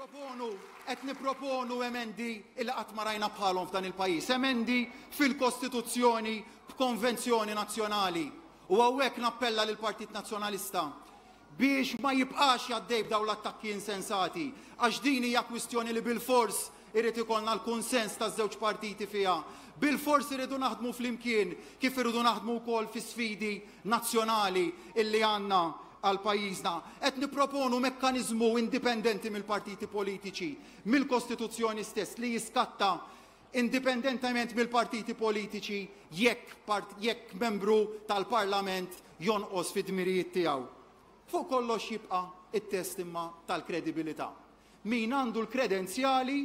Nipproponu, qed nipproponu emendi illi qatt ma rajna bħalhom f'dan il-pajjiż, emendi fil-Kostituzzjoni b'konvenzjoni nazzjonali. U hawnhekk nappella lill-Partit Nazzjonalista biex ma jibqax jgħaddej b'dawn l-attakki insensati, għax din hija kwistjoni li bilfors irid ikollna l-kunsens taż-żewġ partiti fiha. Bilfors irridu naħdmu flimkien kif irridu naħdmu wkoll fi sfidi nazzjonali illi għandna għal pajjiżna. Qed nipproponu mekkaniżmu indipendenti mill-partiti politiċi, mill-Kostituzzjoni stess li jiskatta indipendentement mill-partiti politiċi jekk, part, jekk membru tal-Parlament jonqos fid-dmirijiet tiegħu. Fuq kollox jibqa' it-test imma tal-kredibilità. Min għandu l-kredenzjali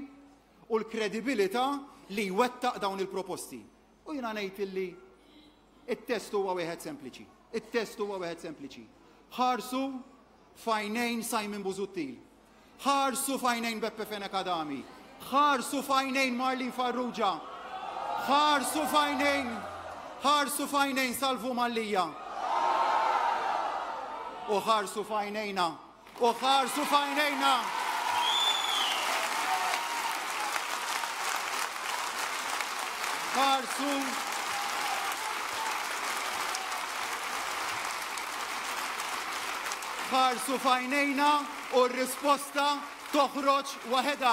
u l-kredibilità li jwettaq dawn il-proposti. U jiena ngħid illi it-test huwa wieħed sempliċi. It-test huwa wieħed sempliċi. Ħarsu f'għajnejn Simon Busuttil. Ħarsu f'għajnejn Beppe Fenech Adami. Ħarsu f'għajnejn Marlene Farrugia. Ħarsu f'għajnejn ħarsu f'għajnejn Salvu Mallia. U ħarsu f'għajnejna. U ħarsu f'għajnejna. Ħarsu Ħarsu f'għajnejna u r-risposta toħroġ waħedha.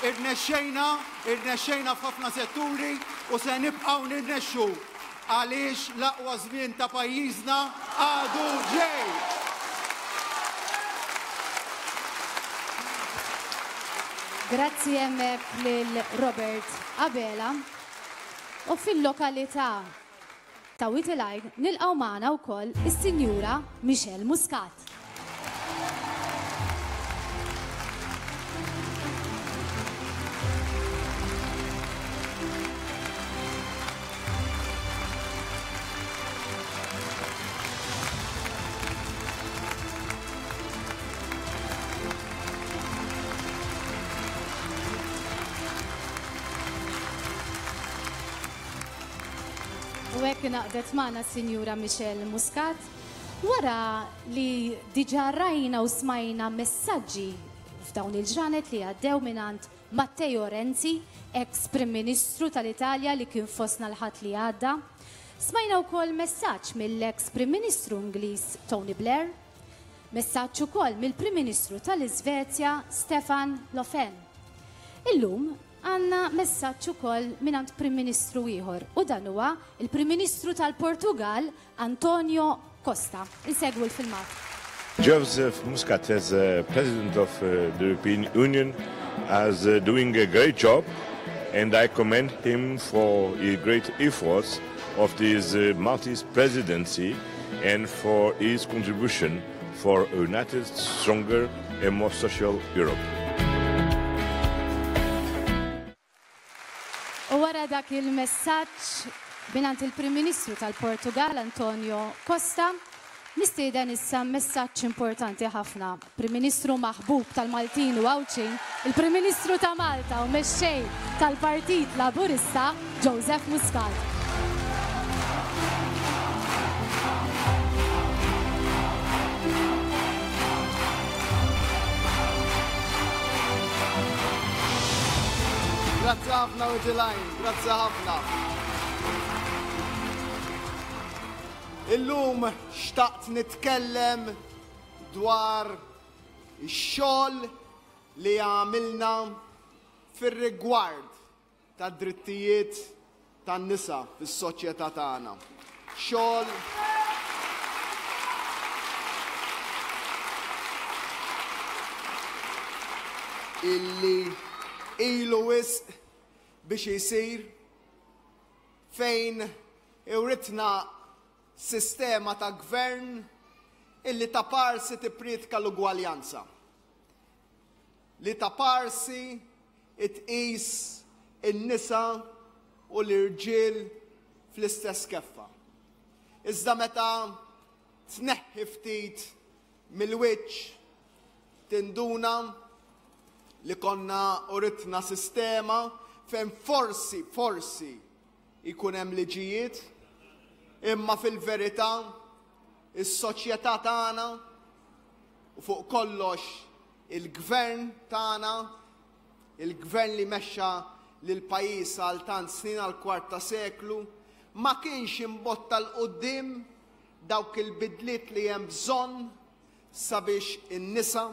Irnexxejna, irnexxejna f'ħafna setturi u se nibqgħu nirnexxu għaliex l-aqwa żmien ta' pajjiżna għadu ġej. Grazzi hemmhekk lil Robert Abela. U fil-lokalità ta' Wied il-Għajn nilqgħu magħna wkoll is-Sinjura Michelle Muscat. U hekk ingħaqdet magħna s-Sinjura Michelle Muscat wara li diġà rajna u smajna messaġġi f'dawn il-ġranet li għaddew mingħand Matteo Renzi, eks Prim Ministru tal-Italja li kien fostna l-Ħadd li għadda. Smajna wkoll messaġġ mill-eks Prim Ministru Ingliż Tony Blair. Messaġġ ukoll mill-Prim Ministru tal-Iżvezja Stefan Löfven. Illum Għandna messaġġ ukoll mingħand Prim Ministru ieħor u dan huwa l-Prim Ministru tal-Portugall Antonio Costa. Insegwu l-filmat. Joseph Muscat as President of the European Union as doing a great job and I commend him for his great efforts of this Maltese presidency and for his contribution for a united, stronger and more social Europe. U wara dak il-messaġġ mingħand il-Prim Ministru tal-Portugal Antonio Costa, nistieden issa messaġġ importanti ħafna. Prim Ministru maħbub tal-Maltin u Għawdxin, il-Prim Ministru ta' Malta u Mexxej tal-Partit Laburista, Joseph Muscat. Grazzi ħafna Witilajn, grazzi ħafna. Illum xtaqt nitkellem dwar ix-xogħol li għamilna fir-rigward tad-drittijiet tan-nisa fis-soċjetà tagħna. Xogħol illi ilu wisq biex isir fejn iwritna sistema ta' gvern illi taparsi tipprietka l-ugwaljanza, li taparsi tqis in-nisa u l-irġiel fl-istess keffa. Iżda meta tneħħi ftit mill-wiċċ tinduna li konna uritna sistema fejn forsi, forsi jkun hemm liġijiet, imma fil-verità is-soċjetà tagħna. u fuq kollox il-gvern tagħna, il-gvern li mexxa lill-pajjiż għal tant snin għal kwart ta' seklu, ma kienx imbotta 'l quddiem dawk il-bidliet li hemm bżonn sabiex in-nisa,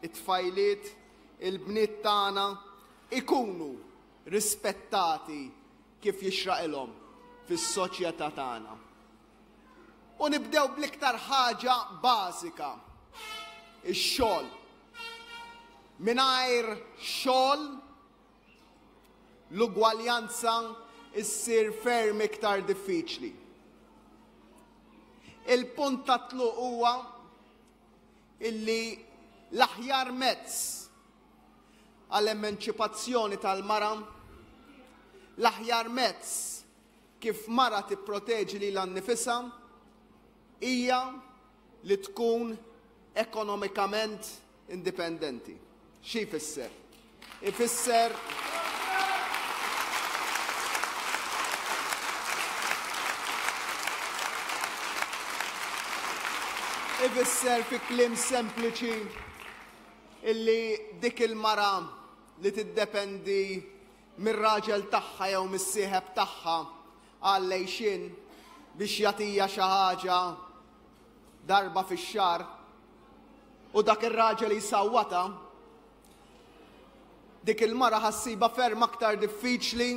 it-tfajliet, il-bniet tagħna ikunu rispettati kif jixraqilhom fis-soċjetà tagħna. U nibdew bl-iktar ħaġa bażika, ix-xogħol. Mingħajr xogħol l-ugwaljanza ssir ferm iktar diffiċli. Il-punt ta' tluq huwa illi l-aħjar mezz għall-emanċipazzjoni tal-mara, l-aħjar mezz kif mara tipproteġi lilha nnifisha hija li tkun ekonomikament indipendenti. Xi jfisser? Ifisser Ifisser fi kliem sempliċi illi dik il-mara li tiddependi mir-raġel tagħha jew mis-sieħeb tagħha għall-għixien biex jagħtija xi ħaġa darba fix-xahar u dak ir-raġel jsawwatha, dik il-mara ħa ssibha ferm aktar diffiċli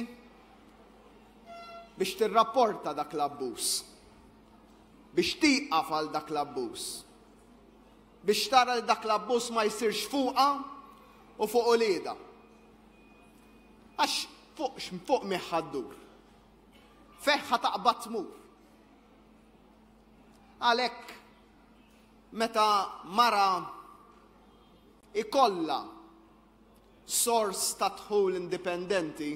biex tirrapporta dak l-abbuż, biex tieqaf għal dak l-abbuż, biex tara li dak l-abbuż ma jsirx fuqha u fuq uliedha. Għax fuq fuq min ħa ddur. Fejn ħa taqbad tmur. Għalhekk meta mara ikollha sors ta' dħul indipendenti,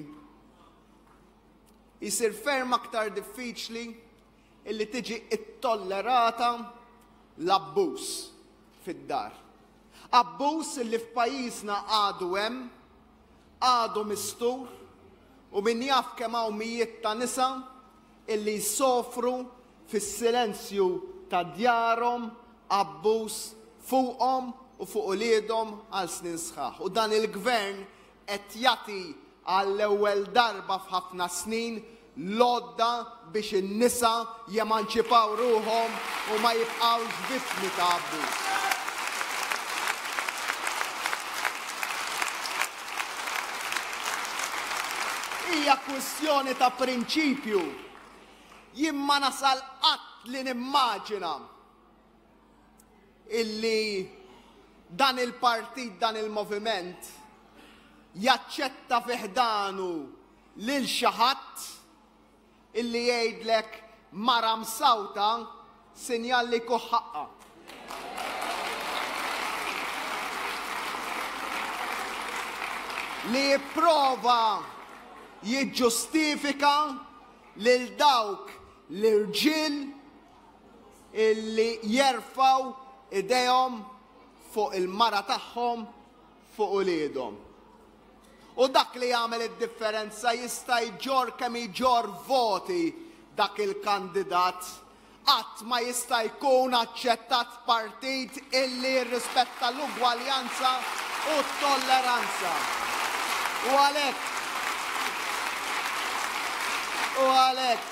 jsir ferm aktar diffiċli illi tiġi ittollerata l-abbuż fid-dar. Abbuż illi f'pajjiżna għadu hemm, għadu mistur u min jaf kemm hawn mijiet ta' nisa illi jsofru fis-silenzju ta' djarhom abbuż fuqhom u fuq uliedhom għal snin sħaħ. U dan il-Gvern qed jagħti għall-ewwel darba f'ħafna snin l-għodda biex in-nisa jemanċipaw ruħhom u ma jibqgħux vittmi ta' abbuż. Hija kwistjoni ta' prinċipju. Jien ma nasal qatt li nimmaġina illi dan il-partit, dan il-moviment jaċċetta fi ħdanu lil xi ħadd illi jgħidlek mara msawta sinjal li jkun ħaqqha. Li jipprova jiġġustifika lil dawk l-irġiel illi jerfgħu idejhom fuq il-mara tagħhom, fuq uliedhom. U dak li jagħmel id-differenza jista' jġorr kemm jġorr voti dak il-kandidat, qatt ma jista' jkun aċċettat f'partit illi jirrispetta l-ugwaljanza u t-tolleranza. U għalhekk u għalhekk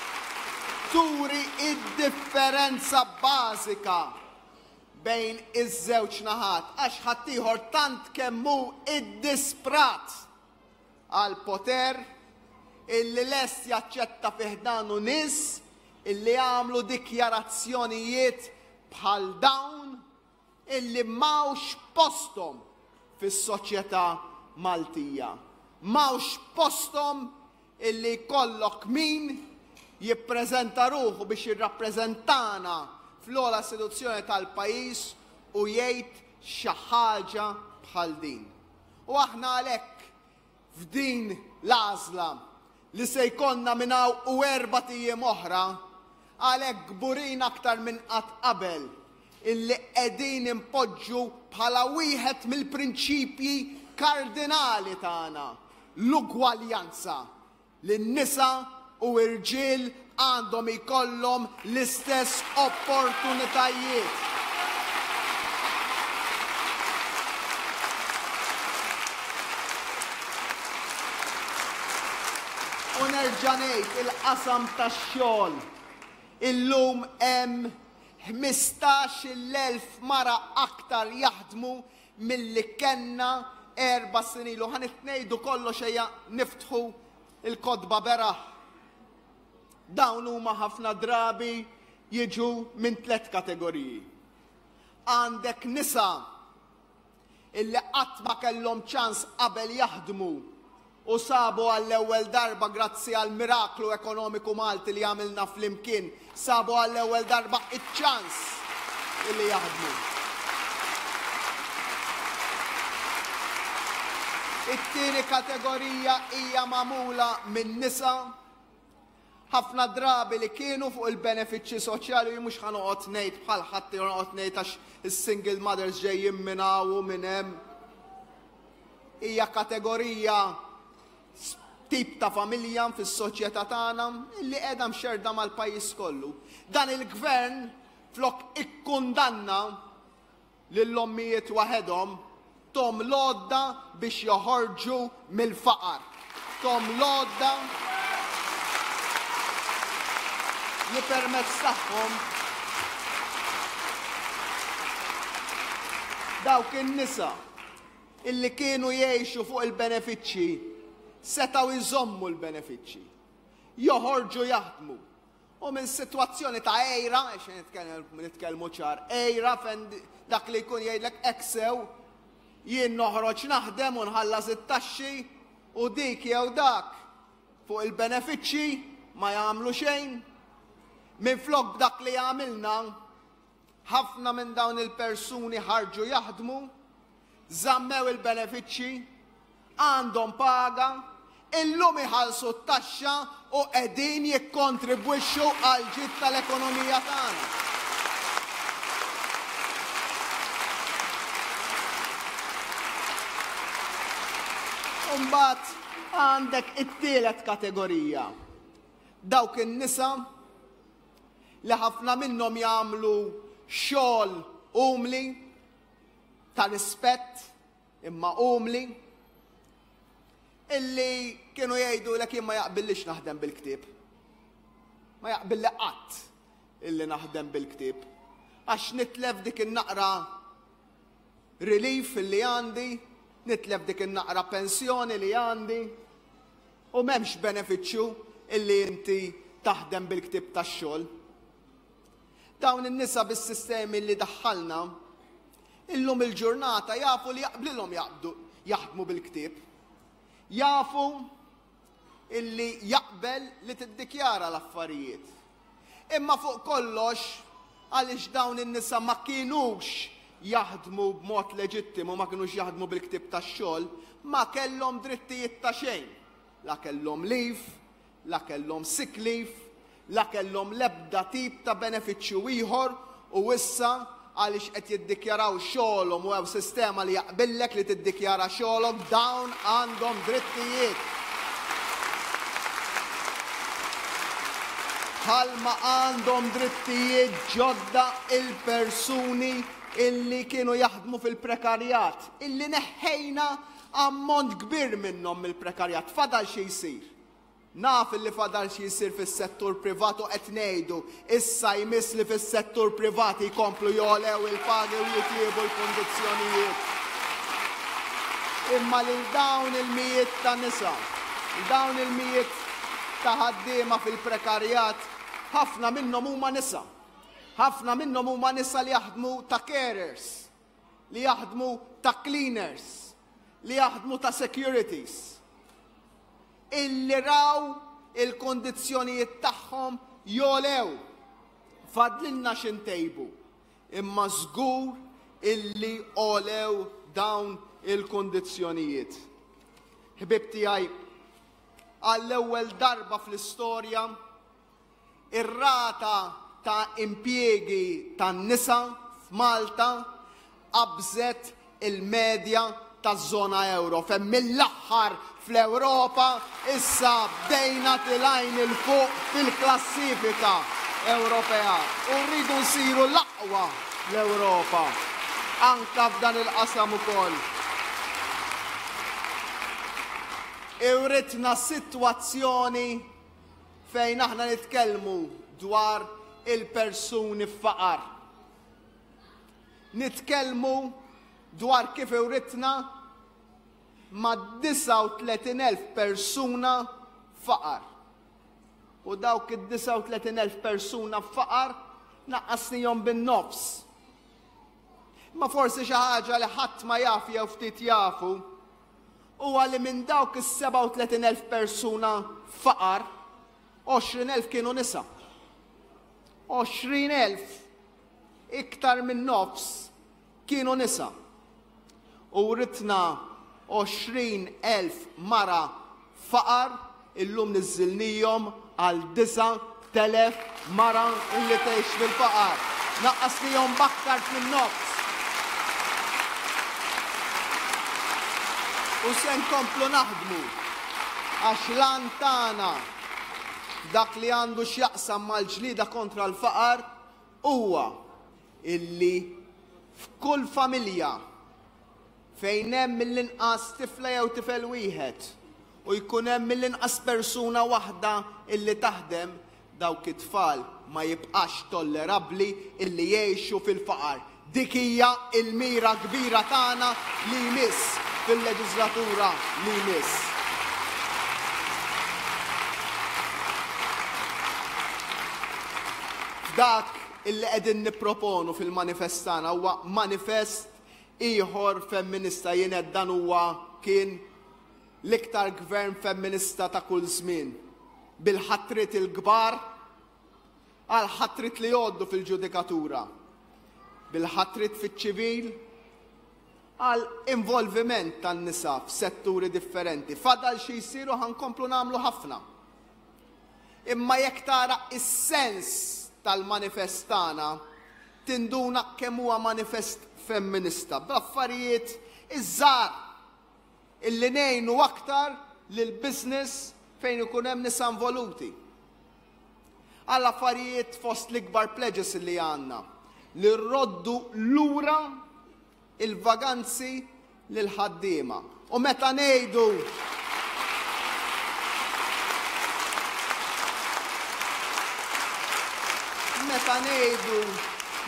turi id-differenza bażika bejn iż-żewġ naħat għax ħaddieħor tant kemm hu iddisprat għall-poter illi lest jaċċetta fi ħdanu nies illi għamlu dikjarazzjonijiet bħal dawn illi m'hawnx posthom fis-soċjetà Maltija. M'hawnx posthom illi jkollok min jippreżenta ruħu biex jirrappreżentana fl-ogħla istituzzjoni tal-pajjiż u jgħid xi ħaġa bħal din. U aħna għalhekk f'din l-għażla li se jkollna minn hawn u erbat ijiem oħra, għalhekk kburin aktar minn qatt qabel illi qegħdin inpoġġu bħala wieħed mill-prinċipji kardinali tagħna l-ugwaljanza, li n-nisa u rġiel għandhom ikollhom l-istess opportunitajiet. nerġa' ngħid il-qasam tax-xogħol. Illum hemm 15,000 mara aktar jaħdmu milli kellna erba' snin ilu. Ħa ngħidu kollox ejja niftħu l-kotba beraħ. Dawn huma ħafna drabi jiġu minn tlett kategoriji. Għandek nisa illi qatt ma kellhom ċans qabel jaħdmu u sabu għall-ewwel darba grazzi għall-miraklu ekonomiku Malti li għamilna flimkien, sabu għall-ewwel darba iċ-ċans illi jaħdmu. It-tieni kategorija hija magħmula minn nisa ħafna drabi li kienu fuq il-benefiċċji soċjali u mhux ħa noqgħod ngħid bħal ħadd jew noqgħod ngħid għax is-single mothers ġejjin minn hawn u minn hemm. Hija kategorija tip ta' familja fis-soċjetà tagħna li qiegħda mxerda mal-pajjiż kollu. Dan il-gvern flok ikkundanna lill-ommijiet waħedhom, thom l-għodda biex joħorġu mill-faqar. Thom l-għodda li permezz tagħhom dawk in-nisa illi kienu jgħixu fuq il-benefiċċji setgħu jżommu l-benefiċċji, joħorġu jaħdmu U minn sitwazzjoni ta' għejra, għax nitkellmu ċar, għejra fejn dak li jkun jgħidlek hekk sew, jien noħroġ naħdem u nħallas it-taxxi u dik jew dak fuq il-benefiċċji ma jagħmlu xejn. Minflok b'dak li għamilna, Ħafna minn dawn il-persuni ħarġu jaħdmu, żammew il-benefiċċji, għandhom paga, illum iħallsu t-taxxa u qegħdin jikkontribwixxu għall-ġid tal-ekonomija tagħna. U mbagħad għandek it-tielet kategorija. Dawk in-nisa li ħafna minnhom jagħmlu xogħol umli, ta' rispett imma umli, illi kienu jgħidu lek jien ma jaqbillix naħdem bil-ktieb. Ma jaqbilli qatt illi naħdem bil-ktieb. Għax nitlef dik in-naqra relief illi għandi, nitlef dik in-naqra pensjoni li għandi, U m'hemmx benefiċċju illi inti taħdem bil-ktieb tax-xogħol. Dawn in-nisa bis-sistemi li daħħalna, illum il-ġurnata jafu li jaqblilhom jaqbdu jaħdmu bil-ktieb. Jafu illi jaqbel li tiddikjara l-affarijiet. Imma fuq kollox, għaliex dawn in-nisa ma kinux jaħdmu b'mod leġittimu, ma kinux jaħdmu bil-ktieb tax-xogħol, ma kellhom drittijiet ta' xejn. La kellhom leave, la kellhom sick leave, la kellhom l-ebda tip ta' benefiċċju ieħor u issa għaliex qed jiddikjaraw xogħolhom u hemm sistema li jaqbillek li tiddikjara xogħolok, dawn għandhom drittijiet. Bħalma għandhom drittijiet ġodda il-persuni illi kienu jaħdmu fil-prekarjat, illi neħħejna ammont kbir minnhom mill-prekarjat. Fadal xi jsir. Naf illi fadal xi jsir fis-settur privat u qed ngħidu issa jmiss li fis-settur privat jkomplu jogħlew il-pagi u jitjiebu l-kundizzjonijiet. Imma lil dawn il-mijiet ta' nisa, dawn il-mijiet ta' ħaddiema fil-prekarjat, ħafna minnhom huma nisa. Ħafna minnhom huma nisa li jaħdmu ta' carers, li jaħdmu ta' cleaners, li jaħdmu ta' securities. Illi raw il-kundizzjonijiet tagħhom jogħlew. Fadlilna xi ntejbu, imma żgur illi għolew dawn il-kundizzjonijiet. Ħbieb tiegħi, għall-ewwel darba fl-istorja, Ir-rata ta' impjiegi tan-nisa f'Malta qabżet il-medja taż-żona ewro, fejn mill-aħħar fl-Ewropa issa bdejna tilgħin 'il fuq fil-klassifika Ewropea u rridu nsiru l-aqwa fl-Ewropa anke f'dan il-qasam ukoll. Iwritna sitwazzjoni. fejn aħna nitkellmu dwar il-persuni f'faqar. Nitkellmu dwar kif iwritna ma' 39,000 persuna f'faqar. U dawk id-39,000 persuna f'faqar naqqasnihom bin-nofs. Imma forsi xi ħaġa li ħadd ma jaf jew ftit jafu huwa li minn dawk is-37,000 persuna f'faqar, 20,000 kienu nisa. 20,000 iktar minn nofs kienu nisa. U writna 20,000 mara faqar illum niżżilnihom għal 9,000 mara illi tgħix fil-faqar. Naqqasnihom b'aktar minn nofs. U se nkomplu naħdmu għax l-għan tagħna dak li għandu x'jaqsam mal-ġlieda kontra l-faqar huwa illi f'kull familja fejn hemm mill-inqas tifla jew tifel wieħed u jkun hemm mill-inqas persuna waħda illi taħdem, dawk it-tfal ma jibqax tollerabbli illi jgħixu fil-faqar. Dik hija l-mira kbira tagħna li jmiss fil-leġiżlatura li jmiss. F'dak illi qegħdin nipproponu fil-manifest tagħna huwa manifest ieħor femminista jien għedt dan huwa kien l-iktar gvern femminista ta' kull żmien bil-ħatriet il-kbar għal ħatriet li jgħoddu fil-ġudikatura, bil-ħatriet fiċ-ċivil għal involviment tan-nisa f'setturi differenti. Fadal xi jsir u ħa nkomplu nagħmlu ħafna. Imma jekk tara is-sens tal-manifest tagħna, tinduna kemm huwa manifest femminista bl-affarijiet iż-żgħar illi ngħinu aktar lil business fejn ikun hemm nisa involuti. Għal affarijiet fost l-ikbar pledges li għandna li rroddu lura il-vaganzi lill-ħaddiema. U meta ngħidu Meta ngħidu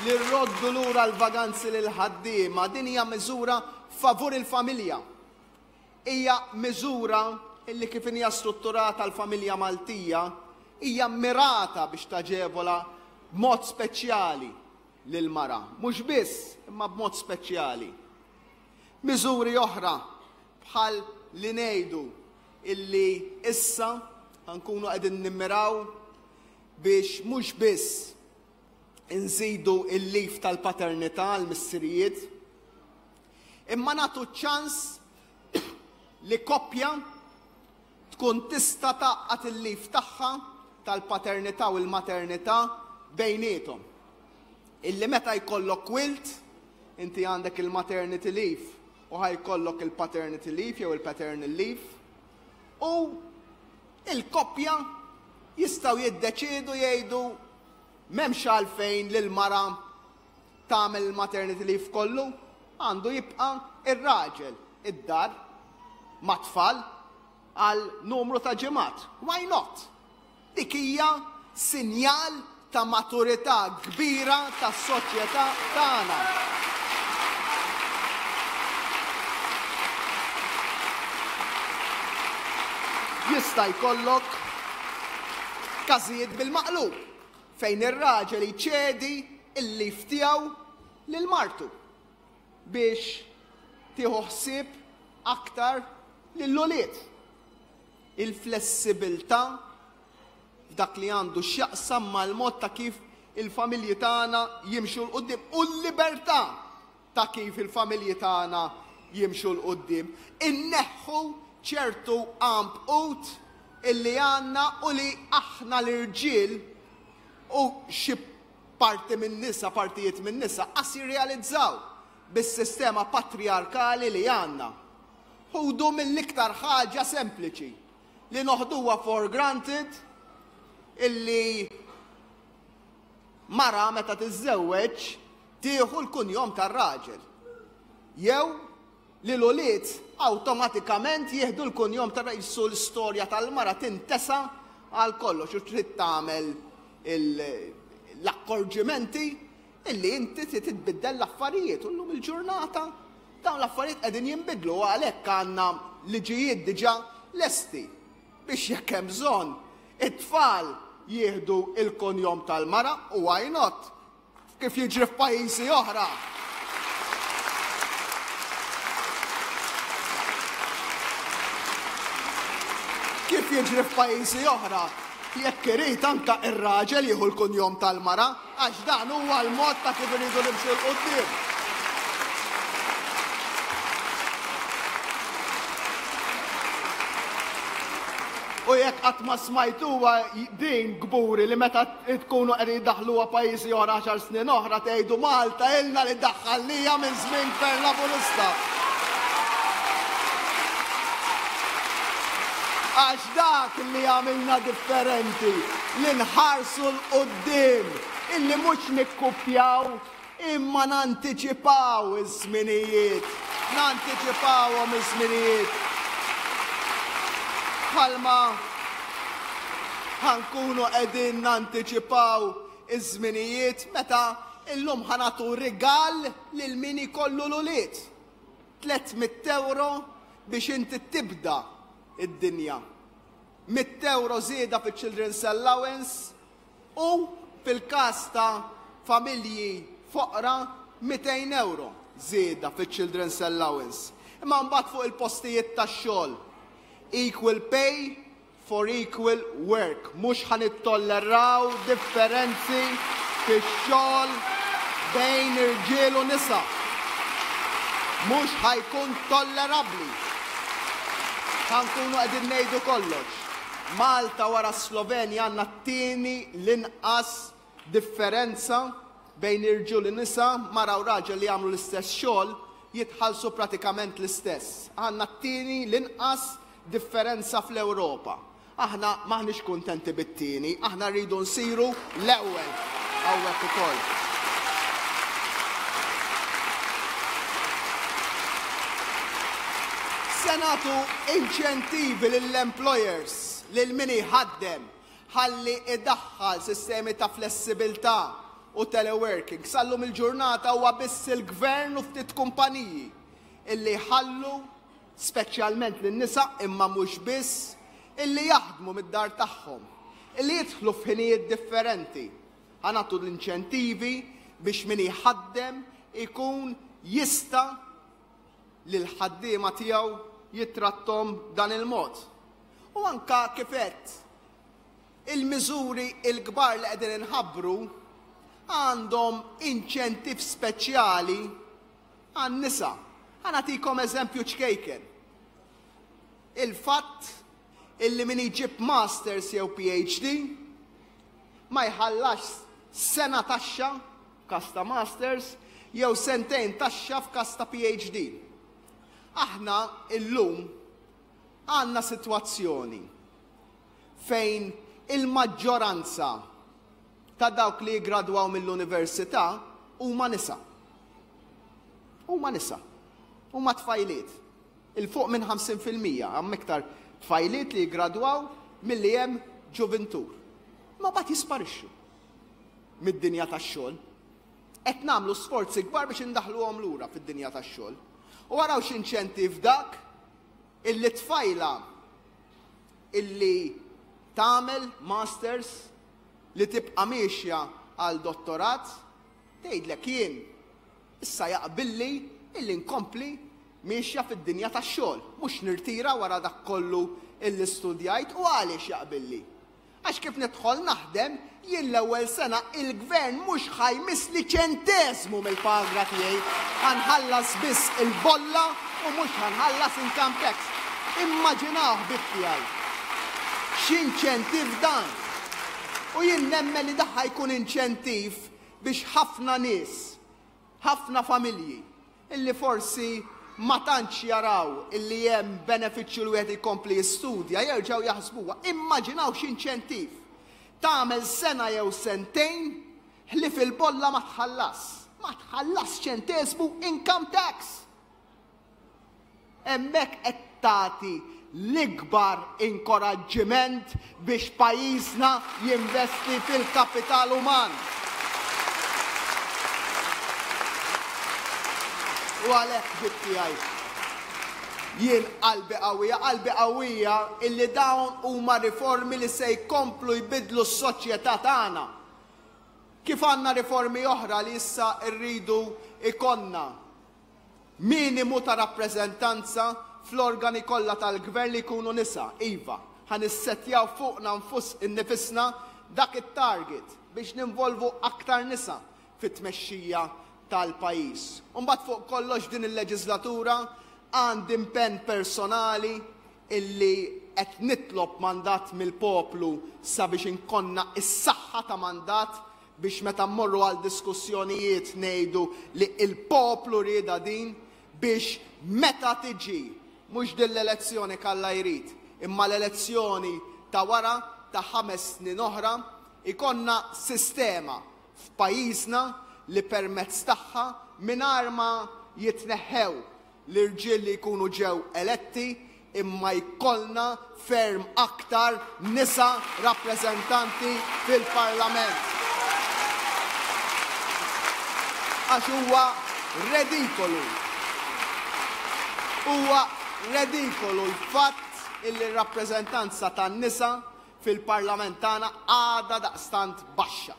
li rroddu lura l-vaganzi lill-ħaddiema, din hija miżura favur il-familja. Hija miżura illi kif hija strutturata l-familja Maltija hija mirata biex taġevola b'mod speċjali lill-mara. Mhux biss, imma b'mod speċjali. Miżuri oħra bħal li ngħidu illi issa nkunu qegħdin nimmiraw biex mhux biss inżidu il-leave tal-paternità għal missirijiet, imma nagħtu ċans li koppja tkun tista' tgħaqqad il-leave tagħha tal-paternità u l-maternità bejniethom. Illi meta jkollok wild, inti għandek il-maternity leave u ħa jkollok il-paternity leave jew il-paternal leave, u il-koppja jistgħu jiddeċiedu jgħidu m'hemmx għalfejn li l-mara tagħmel il-maternity leave kollu, għandu jibqa' ir-raġel id-dar mat-tfal għal numru ta' ġimgħat. Why not? Dik hija sinjal ta' maturità kbira tas-soċjetà tagħna. Jista' jkollok każijiet bil-maqlub fejn ir-raġel jċedi l-leave tiegħu lil martu biex tieħu ħsieb aktar lill-ulied. Il-flessibilità f'dak li għandu x'jaqsam mal-mod ta' kif il-familji tagħna jimxu 'l quddiem u l-libertà ta' kif il-familji tagħna jimxu 'l quddiem. Inneħħu ċertu għanbqut illi għandna u li aħna l-irġiel u xi parti min-nisa, partijiet min-nisa, qas jirrealizzaw bis-sistema patrijarkali li għandna. Ħudu mill-iktar ħaġa sempliċi li noħduha for granted illi mara meta tiżżewweġ tieħu l-kunjom tar-raġel. Jew li l-ulied awtomatikament jieħdu l-kunjom tar-raġel, l-istorja tal-mara tintesa. Għal kollox u trid tagħmel l-akkorġimenti illi inti trid tbiddel l-affarijiet u llum il-ġurnata dawn l-affarijiet qegħdin jinbidlu u għalhekk għandna liġijiet diġà lesti biex jekk hemm bżonn it-tfal jieħdu il-kunjom tal-mara u why not kif jiġri f'pajjiżi oħra. Kif jiġri f'pajjiżi oħra, jekk irid anka ir-raġel jieħu l-kunjom tal-mara, għax dan huwa l-mod ta' kif iridu nimxu 'l quddiem. U jekk qatt ma smajtuha din kburi li meta tkunu qegħdin jdaħħluha pajjiżi oħra għaxar snin oħra tgħidu Malta ilna li daħħalnija minn żmien Gvern Laburista. Għax dak li għamilna differenti, li nħarsu 'l quddiem, illi mhux nikkupjaw Imma nantiċipaw iż-żminijiet, nantiċipawhom iż-żminijiet. Bħalma ħa nkunu qegħdin nantiċipaw iż-żminijiet meta illum ħa nagħtu rigal lil min ikollu l-ulied. 300 ewro biex inti tibda id-dinja. 100 ewro żieda fiċ-Children's Allowance U fil-każ ta' familji foqra 200 ewro żieda fiċ-Children's Allowance. Imma mbagħad fuq il-postijiet tax-xogħol, equal pay for equal work, mhux ħa nittolleraw differenzi fix-xogħol bejn irġiel u nisa. Mhux ħa jkun tollerabbli. Ħa nkunu qegħdin ngħidu kollox. Malta wara s-Slovenja għandna t-tieni l-inqas differenza bejn irġiel u nisa, mara u raġel li jagħmlu l-istess xogħol jitħallsu pratikament l-istess. Għandna t-tieni l-inqas differenza fl-Ewropa. Aħna m'aħniex kuntenti bit-tieni, aħna rridu nsiru l-ewwel hawnhekk ukoll. Se nagħtu inċentivi lill-employers, lil min iħaddem, ħalli idaħħal sistemi ta' flessibilità u teleworking. Sallum il-ġurnata huwa biss il-gvern u ftit kumpaniji illi jħallu speċjalment lin-nisa imma mhux biss, illi jaħdmu mid-dar tagħhom, illi jidħlu f'ħinijiet differenti. Ħa nagħtu l-inċentivi biex min iħaddem ikun jista' lill-ħaddiema tiegħu jittrattom dan il-mod. U anka kif għedt, il-miżuri l-kbar li qegħdin inħabbru għandhom inċentiv speċjali għan-nisa. Ħa nagħtikom eżempju ċkejken. Il-fatt illi min iġib masters jew PhD ma jħallax sena taxxa f'każ ta' masters jew sentejn taxxa f'każ ta' PhD. Aħna illum għandna sitwazzjoni fejn il-maġġoranza ta' dawk li jiggradwaw mill-università huma nisa. Huma nisa. Huma tfajliet. 'Il fuq minn 50% hemm iktar tfajliet li jiggradwaw milli hemm ġuvintur. Ma mbagħad jisparixxu mid-dinja tax-xogħol. Qed nagħmlu sforzi kbar biex indaħħluhom lura fid-dinja tax-xogħol. U araw x'inċentiv dak illi tfajla illi tagħmel masters li tibqa' miexja għal dottorat tgħidlek jien issa jaqbilli illi nkompli miexja fid-dinja tax-xogħol, mhux nirtira wara dak kollu illi studjajt u għaliex jaqbilli? Għax kif nidħol naħdem, jien l-ewwel sena il-gvern mhux ħa jmissli ċenteżmu mill-paga tiegħi, ħa nħallas biss il-bolla u mhux ħa nħallas income tax. Immaġinaw ħbieb tiegħi. X'inċentiv dan! U jien nemmen li dak ħa jkun inċentiv biex ħafna nies, ħafna familji, illi forsi ma tantx jaraw illi hemm benefiċċju li wieħed jkompli jistudja, jerġgħu jaħsbuha. Immaġinaw x'inċentiv. Tagħmel sena jew sentejn ħlief il-bolla ma tħallas. Ma tħallas ċenteżmu income tax. Hemmhekk qed tagħti. l-ikbar inkoraġġiment biex pajjiżna jinvesti fil-kapital uman. U għalhekk ħbieb tiegħi, jien qalbi qawwija, qalbi qawwija illi dawn huma riformi li se jkomplu jbiddlu s-soċjetà tagħna. Kif għandna riformi oħra li issa rridu jkollna minimu ta' rappreżentanza fl-organi kollha tal-gvern li jkunu nisa, iva, ħa nissettjaw fuqna nnifisna dak it-target biex ninvolvu aktar nisa fit-tmexxija tal-pajjiż. U mbagħad fuq kollox din il-leġiżlatura għandi impenn personali illi qed nitlob mandat mill-poplu sabiex inkonna s-saħħa ta' mandat biex meta mmorru għal diskussjonijiet ngħidu li l-poplu riedha din biex meta tiġi mhux din l-elezzjoni k'Alla jrid imma l-elezzjoni ta' wara ta' ħames snin oħra jkollna sistema f'pajjiżna li permezz tagħha mingħajr ma jitneħħew l-irġiel li jkunu ġew eletti imma jkollna ferm aktar nisa rappreżentanti fil-Parlament. Għax huwa redikolu, huwa redikolu l-fatt illi r-rappreżentanza tan-nisa fil-Parlament tagħna għadha daqstant baxxa.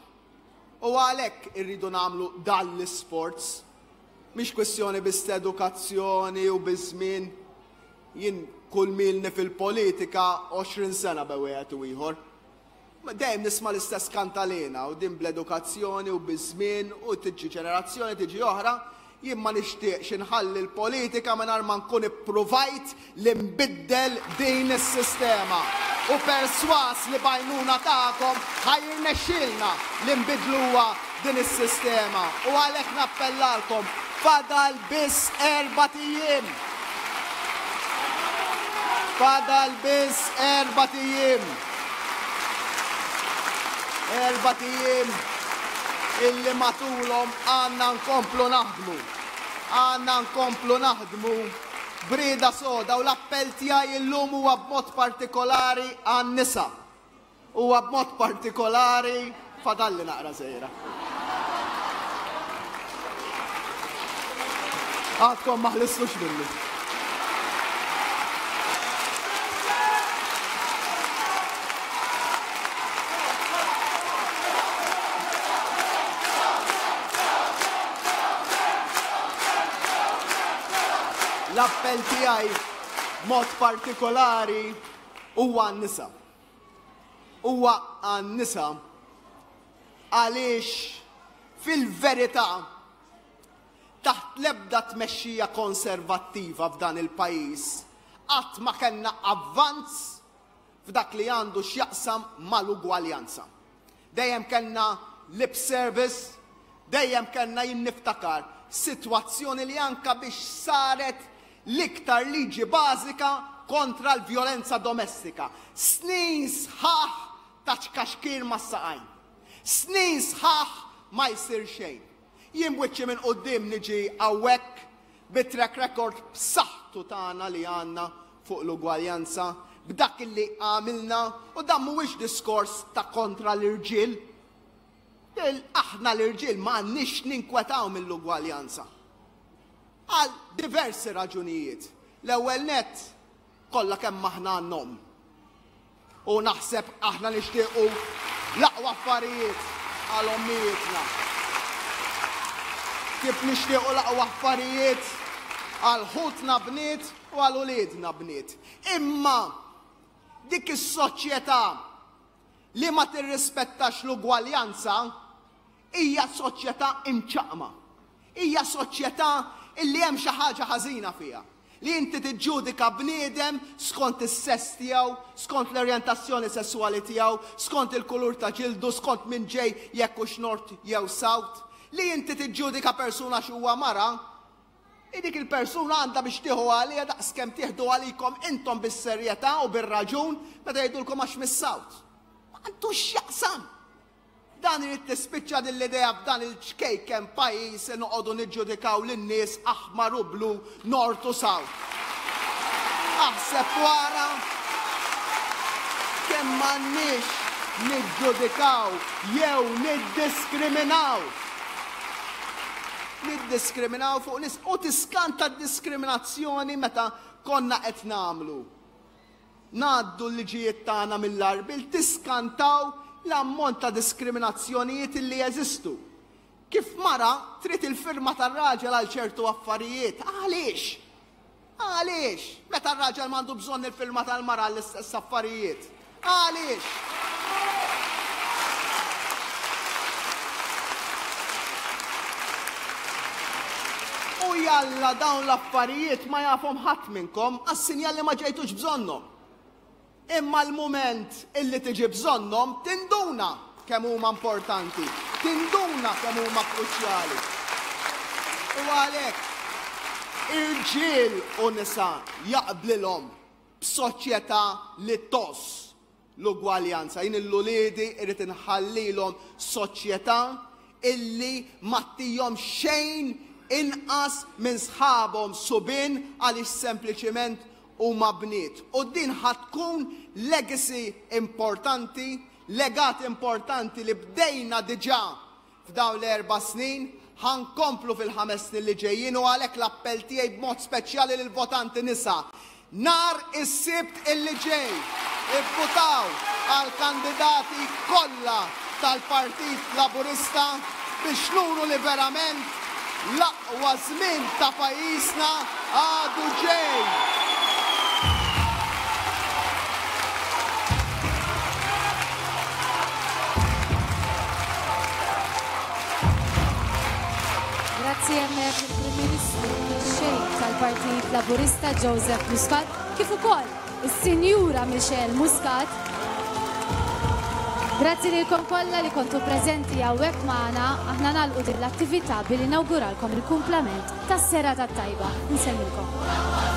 U għalhekk irridu nagħmlu dan l-isforz. Mhix kwistjoni biss ta' edukazzjoni u biż-żmien. Jien kull milni fil-politika 20 sena be wieħed u ieħor. Dejjem nisma' l-istess kantalena u din bl-edukazzjoni u biż-żmien u tiġi ġenerazzjoni tiġi oħra. Jien ma nixtieqx inħalli l-politika mingħajr ma nkun ippruvajt li nbiddel din is-sistema u persważ li b'għajnuna tagħkom ħa jirnexxielna li nbiddluha din is-sistema u għalhekk nappellalkom fadal biss erbat ijiem. Fadal biss erbat ijiem. Erbat ijiem illi matulhom għandna nkomplu naħdmu. Għandna nkomplu naħdmu b'rieda soda u l-appell tiegħi illum huwa b'mod partikolari għan-nisa. Huwa b'mod partikolari fadalli naqra żgħira. Għadkom ma ħlistux minni. L-appell tiegħi mod partikolari huwa għan-nisa. Huwa għan-nisa għaliex fil-verità taħt l-ebda tmexxija konservattiva f'dan il-pajjiż qatt ma kellna avvanz f'dak li għandu x'jaqsam mal-ugwaljanza. Dejjem kellna lip service, dejjem kellna jien niftakar sitwazzjoni li anka biex saret l-iktar liġi bażika kontra l-vjolenza domestika. Snin sħaħ ta' ċkaxkir mas-saqajn. Snin sħaħ ma jsir xejn. Jien b'wiċċi minn quddiem niġi hawnhekk bit-track record b'saħħtu tagħna li għandna fuq l-ugwaljanza, b'dak li għamilna, u dan mhuwiex diskors ta' kontra l-irġiel. Aħna l-irġiel ma għandniex ninkwetaw mill-ugwaljanza. Għal diversi raġunijiet. L-ewwel nett, kollha kemm aħna għandna omm. U naħseb aħna nixtiequ l-aqwa affarijiet għal ommijietna. Kif nixtiequ l-aqwa affarijiet għal ħutna bniet u għal uliedna bniet. Imma dik is-soċjetà li ma tirrispettax l-ugwaljanza hija soċjetà imċaqqma. Hija soċjetà illi hemm xi ħaġa ħażina fiha. Li inti tiġġudika bniedem skont is-sess tiegħu, skont l-orjentazzjoni sesswali tiegħu, skont il-kulur ta' ġildu, skont min ġej jekk hux North jew South. Li inti tiġġudika persuna għax huwa mara, hi dik il-persuna għandha biex tieħu għaliha daqskemm tieħdu għalikom intom bis-serjetà u bir-raġun meta jgħidulkom għax mis-South. Ma għandux x'jaqsam! Dan irid tispiċċa din l-idea f'dan il-ċkejken pajjiż li noqogħdu niġġudikaw lin-nies aħmar u blu, nord u south. Aħseb wara kemm m'għandniex niġġudikaw jew niddiskriminaw. Niddiskriminaw fuq nies u tiskanta d-diskriminazzjoni meta konna qed nagħmlu. Ngħaddu l-liġijiet tagħna mill-għarbiel tiskantaw l-ammont ta' diskriminazzjonijiet illi jeżistu. Kif mara trid il-firma tar-raġel għal ċertu affarijiet, għaliex? Għaliex? Meta r-raġel m'għandu bżonn il-firma tal-mara għall-istess affarijiet. Għaliex? U jalla dawn l-affarijiet ma jafhom ħadd minnkom għas-sinjal li ma ġejtux bżonnhom. Imma l-mument illi tiġi bżonnhom tinduna kemm huma importanti, tinduna kemm huma kruċjali. U għalhekk irġiel u nisa jaqblilhom b'soċjetà li tgħożż l-ugwaljanza. Jien 'l uliedi irrid inħallilhom soċjetà illi ma ttihom xejn inqas minn sħabhom subien għaliex sempliċiment huma bniet. U din ħa tkun legacy importanti, legat importanti li bdejna diġà f'dawn l-erba' snin, ħa nkomplu fil-ħames snin li ġejjin u għalhekk l-appell tiegħi b'mod speċjali lill-votanti nisa, nhar is-Sibt illi ġej, ivvutaw għall-kandidati kollha tal-Partit Laburista biex nuru li verament l-aqwa żmien ta' pajjiżna għadu ġej! Grazzi hemmhekk il-Prim Ministru Mexxej tal-Partit Laburista Joseph Muscat kif ukoll is-Sinjura Michelle Muscat. Grazzi lilkom kollha li kontu preżenti hawnhekk magħna. Aħna nagħlqu din l-attività billi nawguralkom il-kumplament tas-serata t-tajba. Insellmilkom.